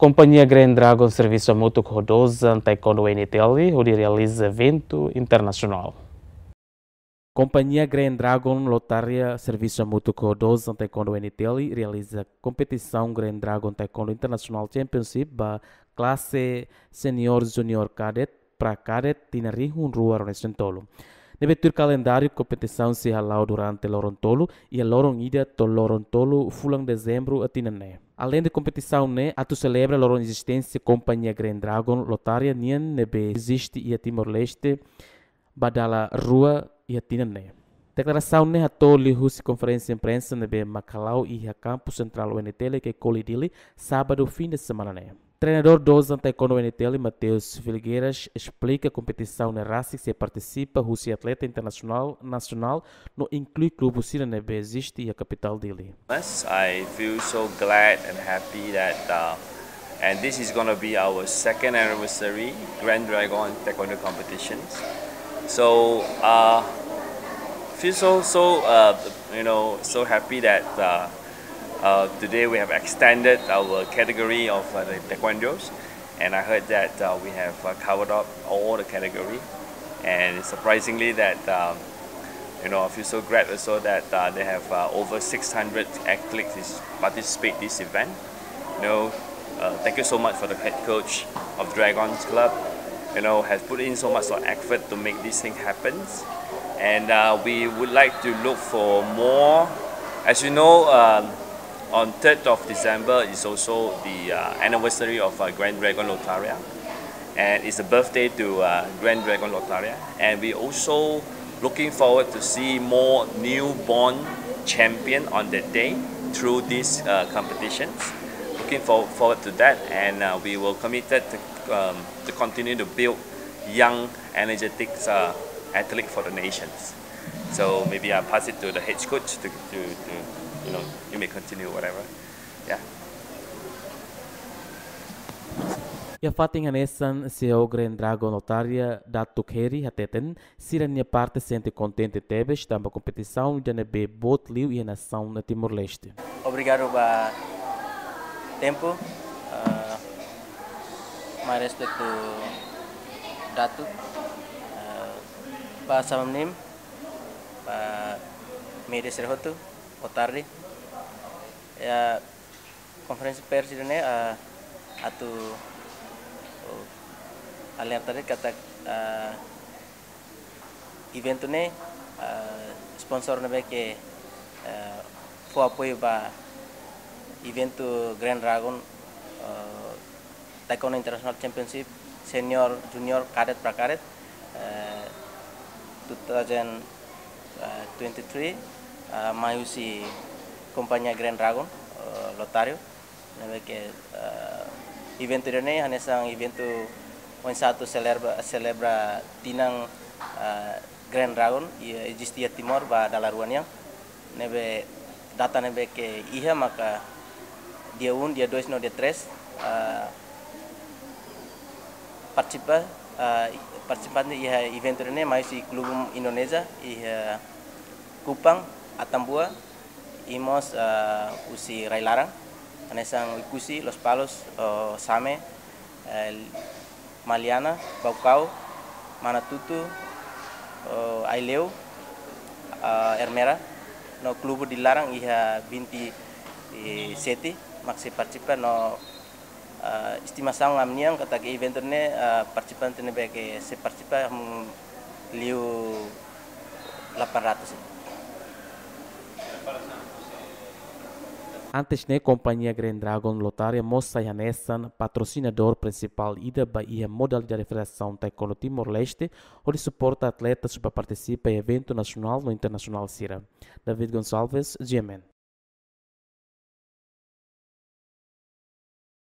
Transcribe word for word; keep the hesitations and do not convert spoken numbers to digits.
Kompañia Green Dragon servisu hamutuk ho Dozan Taekwondo U N T L hodi realiza eventu internasionál. Kompañia Green Dragon Lotaria servisu hamutuk ho Dozan Taekwondo U N T L realiza kompetisaun Green Dragon Taekwondo International Championship ba klase senior junior cadet pra cadet tinan rihun rua ruanulu-resin-tolu. Ne'ebé tuir kalendáriu kompetisaun sei hala'o durante loron tolu, iha loron ida to'o loron tolu fulan Dezembru tinan ne'e. Aleinde kompetisaun ne'e, atu selebra loron ezisténsia Kompañia Green Dragon Lotaria nian ne'ebé eziste iha Timor-Leste ba dala rua iha tinan ne'e. Deklarasaun ne'e hato'o liuhusi konferénsia imprensa ne'ebé mak hala'o iha kampu sentrál U N T L Kekoli Dili, sábadu fin de semana ne'e. Treinadór Dozan Taekwondo U N T L, Mateus Filgueiras, esplika kompetisaun ne'e rasik sei partisipa husi atleta internasionál, nasionál, no inklui klube sira ne'ebé eziste iha kapitál Dili. Yes, I feel so glad and happy that, uh, and this is gonna be our second anniversary Grand Dragon Taekwondo competitions. So, uh, feel so, so, uh, you know, so happy that, uh, uh, today we have extended our category of, uh, the taekwondos, and I heard that, uh, we have, uh, covered up all the category, and surprisingly that, um, you know, I feel so glad also that, uh, they have, uh, over six hundred athletes is participate this event. You know, uh, thank you so much for the head coach of Dragons Club. You know, has put in so much of effort to make this thing happen, and, uh, we would like to look for more. As you know, um, on third of December is also the, uh, anniversary of, uh, Grand Dragon Lotaria, and it's a birthday to, uh, Grand Dragon Lotaria, and we also looking forward to see more newborn champion on that day through these, uh, competitions. Looking for-, forward to that, and, uh, we will committed to, um, to continue to build young, energetic, uh, athlete for the nations. So maybe I'll pass it to the head coach to, to, to, you know, you may continue whatever. Yeah. Iha fatin hanesan, C E O Grand Dragon Lotaria, Datuk Heri, hateten, sira-nia parte sente kontente tebes tanba kompetisaun ida ne'ebé boot liu iha nasaun Timor-Leste. Obrigadu ba tempu, eh, mai respeitu Datuk, eh, ba salam nim, ba média sira hotu, boa tarde. Ya, konferénsia pers ida-ne'e, ah, atu, oh, alerta de'it katak, ah, eventu ne'e, ah, sponsor ne'ebé ke, ah, fó apoiu ba eventu Grand Dragon, ah, Taekwondo International Championship Senior, Junior, Cadet pra Cadet, eh, two thousand twenty-three, eh, mai husi kompañia Grand Dragon, eh, Lotario. Ne'ebé ke, eh, eventu ida-ne'e hanesan eventu oinsá atu selebra, selebra tinan, eh, Grand Dragon, iha eziste iha Timor ba dala rua nian. Ne'ebé data ne'ebé ke iha maka dia um, dia dois no dia três, ah, partisipa, ah, partisipante iha eventu ne'e mai husi klube Indonézia iha Kupang, Atambua, i mós, ah, husi rai-laran, hanesan Oekusi, Lospalos, oh, Same, eh, Maliana, Baucau, Manatuto, eh, Aileu, eh, Ermera, no klube Dili laran iha vinte e sete, mak sei partisipa no, eh, estimasaun ami-nian katak eventu ne'e, eh, partisipante ne'ebé ke sei partisipa, hmm, liu delapan ratus. Antes ne'e, kompañia Grand Dragon Lotaria mós sai hanesan patrosinadór prinsipál ida ba iha modalidade Federasaun Taekwondo Timor-Leste, hodi suporta atleta sira ba partisipa iha eventu nasionál no internasionál sira. David Gonçalves, G M N.